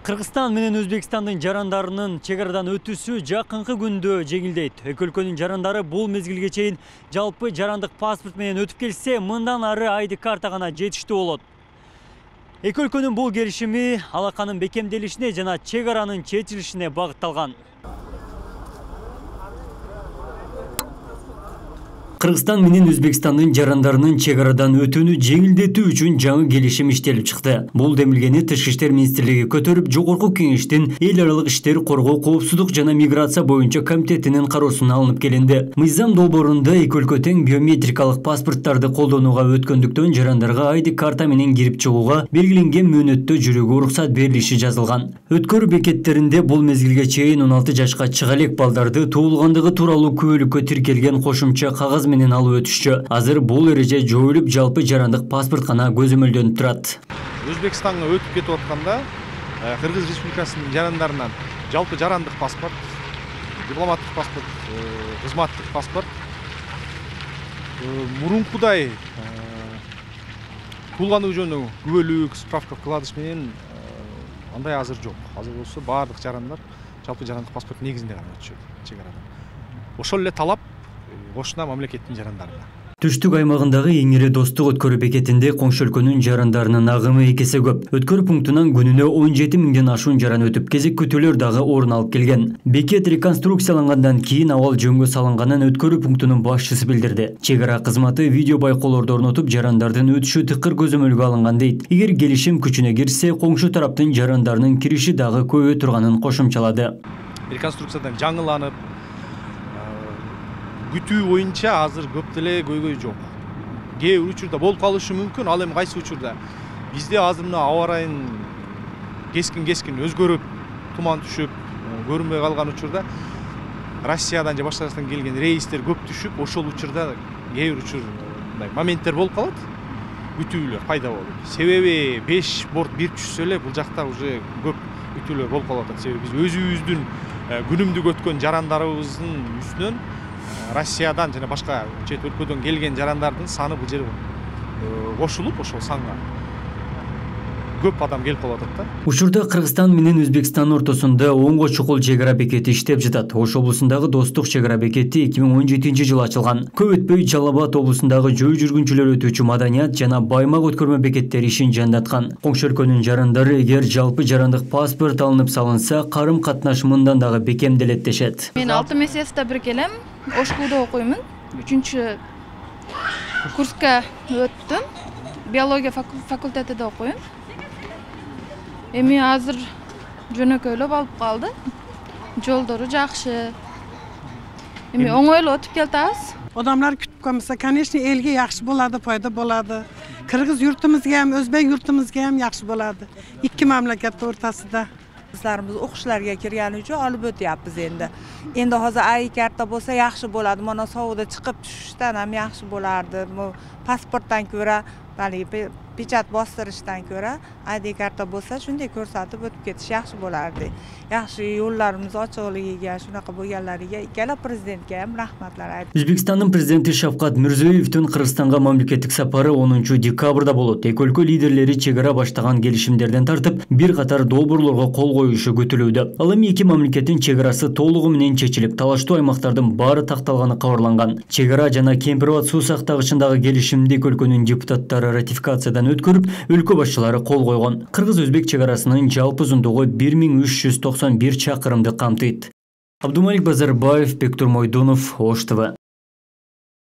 Кыргызстан менен Өзбекстандын жарандарынын чек арадан өтүүсү жакынкы күндө жеңилдейт. Эки өлкөнүн жарандары бул мезгилге чейин жалпы жарандык паспорт менен өтүп келсе, мындан ары ID карта гана жетиштүү болот. Эки өлкөнүн бул келишими алаканын бекемделишине жана чек аранын чечилишине багытталган. Кыргызстан менен Өзбекстандын жарандарынын чек арадан өтүүнү жеңилдетүү үчүн жаңы келишим иштелип чыкты. Бул демилгени Тышкы иштер министрлиги көтөрүп, Жогорку Кеңештин эл аралык иштер коргоо, коопсуздук жана миграция боюнча комитетинин кароосуна алынып келинди. Мыйзам долбоорунда эки өлкө тең биометрикалык паспорттарды колдонууга өткөндүктөн жарандарга ID карта менен кирип чыгууга белгиленген мөөнөттө жүрүүгө уруксат берилиши жазылган. Өткөрүү бекеттеринде бул мезгилге чейин 16 жашка чыга элек балдарды туулгандыгы тууралуу күбөлүккө тиркелген кошумча кагаз менен алып өтүшчү. Азыр бул эреже жоюлуп, жалпы жарандык паспорт гана көзөмөлдөнүп турат. Өзбекстанга өтүп кетип атканда Кыргыз Республикасынын жарандарынан жалпы жарандык паспорт, дипломаттык паспорт, кызматтык паспорт мурункудай туулгандыгы жөнүндө күбөлүк, справка вкладыш менен андай азыр жок. Азыр болсо баардык жарандар жалпы жарандык паспорт негизинде гана өтүшөт чек арадан. Ошол эле талап кошуна мамлекеттин жарандарына. Түштүк аймагындагы эң ири достук өткөрүү бекетинде коңшу өлкөнүн жарандарынын агымы эки эсе көп. Өткөрүү пунктунан күнүнө 17 миңден ашуун жаран өтүп, кезек күтүүлөр дагы орун алып келген. Бекет реконструкциялангандан кийин абал жөнгө салынганын өткөрүү пунктунун башчысы билдирди. Чек ара кызматы видео байкоолорду орнотуп, жарандардын өтүшү тыкыр көзөмөлгө алынган дейт. Эгер келишим күчүнө кирсе, коңшу тараптын жарандарынын кириши дагы көбөйө турганын кошумчалады. Реконструкциядан жаңыланып, күтүү боюнча азыр көп деле көйгөй жок. Кээ бир учурда болуп калышы мүмкүн, ал эми кайсы учурда? Бизде азыр мына аба ырайын кескин өзгөрүп, туман түшүп, көрүнбөй калган учурда Россиядан же башка жактан келген рейстер көп түшүп, ошол учурда кээ бир учур мындай моменттер болуп калат. Күтүүлөр пайда болуп. Себеби 5 борт бир түшсө эле бул жакта уже көп күтүүлөр болуп калып атат. Себеби биз өзүбүздүн күнүмдүк өткөн жарандарыбыздын үстүнөн Россиядан жана башка чет өлкөдөн келген жарандардын саны бул жерге кошулуп, ошол санга көп адам келип калып атат да. Учурда Кыргызстан менен Өзбекстан ортосунда Оңго чукул чек ара бекети иштеп жатат. Ош облусундагы Достук чек ара бекети 2017-жылы ачылган. Көп өтпөй Жалал Абад облусундагы жөө жүргүнчүлөр өтүүчү Маданият жана Баймак өткөрмө бекеттери ишин жандаткан. Коңшу өлкөнүн жарандары эгер жалпы жарандык паспорт алынып салынса, карым катнаш мындан дагы бекемделет дешет. Мен 6 месяцте бир келем. Ошкулда окуймун. 3 курска өттүм. Биология факультетинде окуйм. Эми азыр жөнөкөйлөп алып калды. Жолдору жакшы. Эми оңойлуу өтүп келатабыз. Odamlar kütüp kalmasa, конечно, elge yaxşı boladı, fayda boladı. Kırgız yurtumuzga ham, Özbek yurtumuzga ham yaxşı boladı. İkki mamlakat ortasida. Qizlarimiz o'qishlarga kirgani uchun olib o'tyapmiz endi. Endi hozir ID karta bo'lsa yaxshi bo'ladi. Mana sovuqda chiqib tushishdan ham yaxshi bo'lardi. Bu pasportdan ko'ra, pechat bostirishdan ko'ra ID karta bo'lsa, shunday ko'rsatib o'tib ketish yaxshi bo'lardi. Yaxshi yo'llarimiz ochiqligiga, shunaqa bo'lganlariga ikkala prezidentga ham rahmatlar aytdim. Өзбекстандын президенти Шавкат Мирзиёевдин Кыргызстанга мамлекеттик сапары 10-декабрда болот. Эки өлкө лидерлери чек ара баштаган келишимдерден тартып, бир катар долбоорлорго кол коюшу күтүлүүдө. Ал эми эки мамлекеттин чек арасы толугу менен чечилип, талаштуу аймактардын баары такталганы кабарланган. Чек ара жана Кемпир-Абад суу сактагычындагы келишимди эки өлкөнүн депутаттары ратификациядан өткөрүп, өлкө башчылары кол койгон. Кыргыз-Өзбек чек арасынын жалпы узундугу 1391 чакырымды камтыйт. Абдумалик Базарбаев, Бектур Мойдонов, Ош ТВ.